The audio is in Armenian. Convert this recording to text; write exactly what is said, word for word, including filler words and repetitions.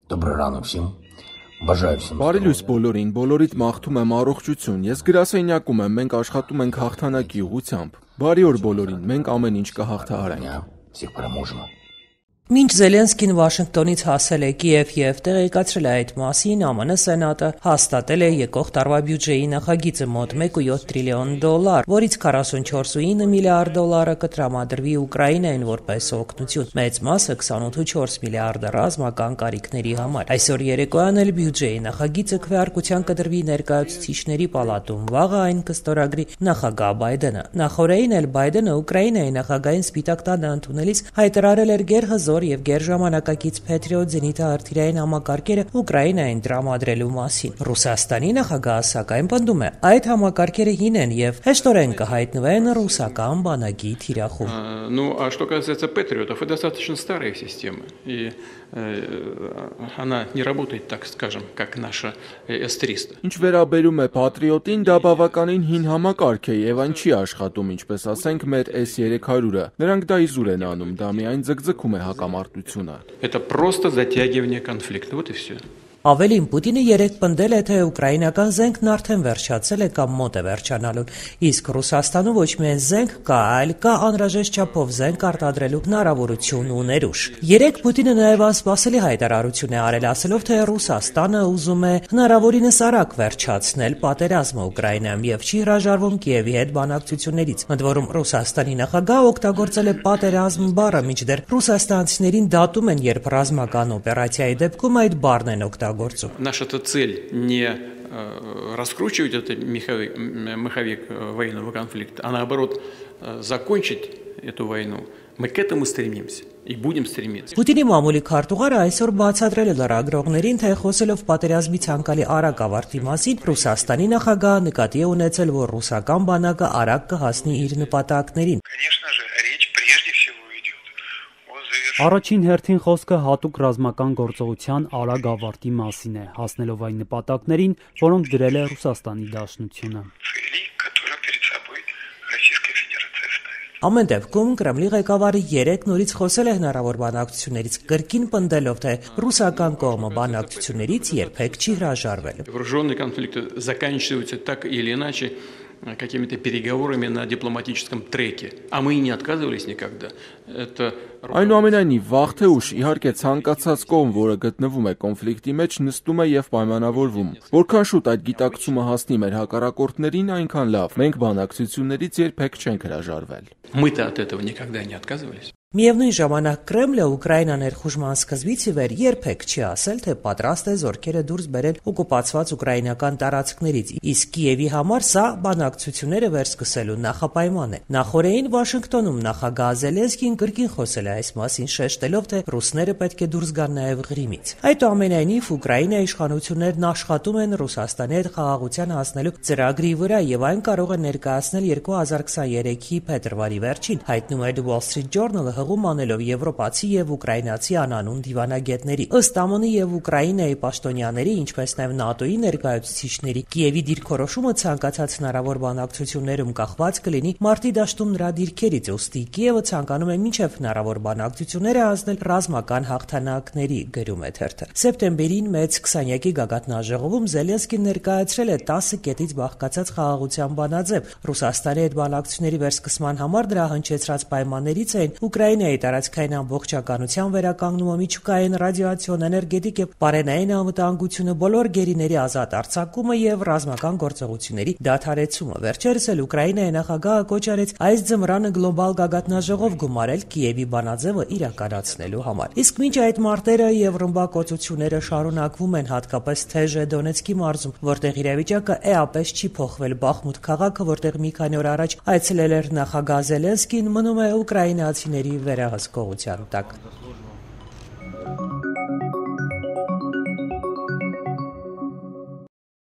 Доброго ранку всем. Բաժայ всем. Բարի լույս բոլորին, բոլորիդ մաղթում եմ առողջություն։ Ես գրասենյակում եմ, մենք աշխատում ենք հաղթանակի ուղղությամբ։ Բարի օր բոլորին, մենք ամեն ինչ կհաղթահարենք։ Всех переможемо. Մինչ Զելենսկին Վաշինգտոնից հասել է Կիև եւ տեղեկացրել է այդ մասին, ԱՄՆ Սենատը հաստատել է եկող տարվա բյուջեի նախագիծը մոտ մեկ կόμμα յոթ տրիլիոն դոլար, որից քառասունչորս կόμma ինը միլիարդ դոլարը կտրամադրվի Ուկրաինային որպես օգնություն, մեծ մասը քսանութ կόμma չորս միլիարդը ռազմական կարիքների համար։ Այսօր երեկոյան էլ բյուջեի նախագիծը քվեարկության կդրվի ներկայացուցիչների պալատում, վաղը այն կստորագրի նախագահ Բայդենը։ Նախորդին էլ Բայդենը Ուկրաինայի նախագահին Սպիտակ տանը ընդունելիս հայտարարել էր գերհզոր եւ գերժամանակակից Patriot զենիթահրթիռային համակարգերը Ուկրաինային տրամադրելու մասին։ Ռուսաստանի նախագահը սակայն պնդում է, այդ համակարգերը հին են եւ հեշտորեն կհայտնվեն ռուսական բանակի թիրախում։ Ну, а что касается Патриотов, это достаточно старая система, и она не работает, так скажем, как наша эс триста. Ինչ վերաբերում է Patriot-ին, դա բավականին հին համակարգ է եւ այն չի աշխատում, ինչպես ասենք, մեր էս երեք հարյուրը։ Նրանք դա իզուր են անում, դա միայն ձգձգում է հակամարտությունը։ Это просто затягивание конфликта, вот и все. Ավելին Պուտինը երեկ պնդել է, թե ուկրաինական զենքն արդեն վերջացել է կամ մոտ է վերջանալուն, իսկ Ռուսաստանում ոչ միայն զենք կա, այլ կա անհրաժեշտ չափով զենք արտադրելու հնարավորություն ու ներուժ։ Երեկ Պուտինը նաև անսպասելի հայտարարություն է արել, ասելով, թե Ռուսաստանը ուզում է հնարավորինս արագ վերջացնել պատերազմը Ուկրաինայում եւ չի հրաժարվում Կիևի հետ բանակցություններից։ Ընդ որում Ռուսաստանի նախագահը օգտագործել է պատերազմ բառը, մինչդեռ ռուսաստանցիներին դատում են, երբ ռազմական օպերացիայի դեպքում այդ բառն են օգտագործում։ Наша-то цель не раскручивать этот маховик, маховик военного конфликта, а наоборот закончить эту войну. Мы к этому стремимся и будем стремиться. Պուտինի մամուլի քարտուղարը այսօր բացատրել է լրագրողներին, թե խոսելով պատերազմի ցանկալի արագ ավարտի մասին, Ռուսաստանի նախագահը նկատի է ունեցել, որ ռուսական բանակը արագ կհասնի իր նպատակներին։ Առաջին հերթին խոսքը հատուկ ռազմական գործողության արագ ավարտի մասին է, հասնելով այն նպատակներին, որոնք դրել է Ռուսաստանի Դաշնությունը։ Ամեն դեպքում Կրեմլի ղեկավարը երեկ նորից խոսել է հնարավոր բանակցություններից, կրկին պնդելով, թե ռուսական կողմը բանակցություններից երբեք չի հրաժարվել։ Вооруженные конфликты заканчиваются так или иначе какими-то переговорами на дипломатическом треке, а мы и не отказывались никогда. Это Այնուամենայնիվ, վաղ թե ուշ, իհարկե ցանկացած կողմ, որը գտնվում է կոնֆլիկտի մեջ, նստում է եւ պայմանավորվում։ Որքան շուտ այդ գիտակցումը հասնի մեր հակառակորդներին, այնքան լավ։ Մենք բանակցություններից երբեք չենք հրաժարվել։ Мы-то от этого никогда не отказывались. Միևնույն ժամանակ Կրեմլը Ուկրաինա ներխուժման սկզբից ի վեր երբեք չի ասել, թե պատրաստ է զորքերը դուրս բերել օկուպացված ուկրաինական տարածքներից, իսկ Կիևի համար սա բանակցությունները վերսկսելու նախապայման է։ Նախորդին Վաշինգտոնում նախագահ Զելենսկին կրկին խոսել է այս մասին, շեշտելով, թե ռուսները պետք է դուրս գան նաև Ղրիմից։ Այդուամենայնիվ Ուկրաինայի իշխանություններն աշխատում են Ռուսաստանի հետ խաղաղության հասնելու ծրագրի վրա եւ այն կարող է ներկայացնել երկու հազար քսաներեքի փետրվարի վերջին, հայտնում է The Wall Street Journal-ը հղում անելով եվրոպացի եւ ուկրաինացի անանուն դիվանագետների։ Ըստ ԱՄՆ-ի եւ Ուկրաինայի պաշտոնյաների, ինչպես նաեւ ՆԱՏՕ-ի ներկայացուցիչների, Կիևի դիրքորոշումը ցանկացած հնարավոր բանակցություններում կախված կլինի մարտի դաշտում նրա դիրքերից, ուստի Կիևը ցանկանում է մինչև հնարավոր բանակցությունները հասնել ռազմական հաղթանակների, գրում է թերթը։ Սեպտեմբերին մեծ քսանյակի գագաթնաժողովում Զելենսկին ներկայացրել է տասը կետից բաղկացած խաղաղության բանաձև։ Ռուսաստանի հետ բանակցությունների վերսկսման համար դրա հնչեցրած պայմաններից էին Ուկրաինայի տարածքային ամբողջականության վերականգնումը, միջուկային ռադիացիոն, էներգետիկ եւ պարենային անվտանգությունը, բոլոր գերիների ազատ արձակումը եւ ռազմական գործողությունների դադարեցումը։ Վերջերս էլ Ուկրաինայի նախագահը կոչ արեց այս ձմռանը գլոբալ գագաթնաժողով գումարել Կիևի բանաձևը իրականացնելու համար։ Իսկ մինչ այդ մարտերը եւ ռմբակոծությունները շարունակվում են, հատկապես Թեժե Դոնեցկի մարզում, որտեղ իրավիճակը էապես չի փոխվել, Բախմուտ քաղաքը, որտեղ մի քանի օր առաջ այցելել էր նախագահ Զելենսկին, մնում է ուկրաինացիների վերահսկողության տակ։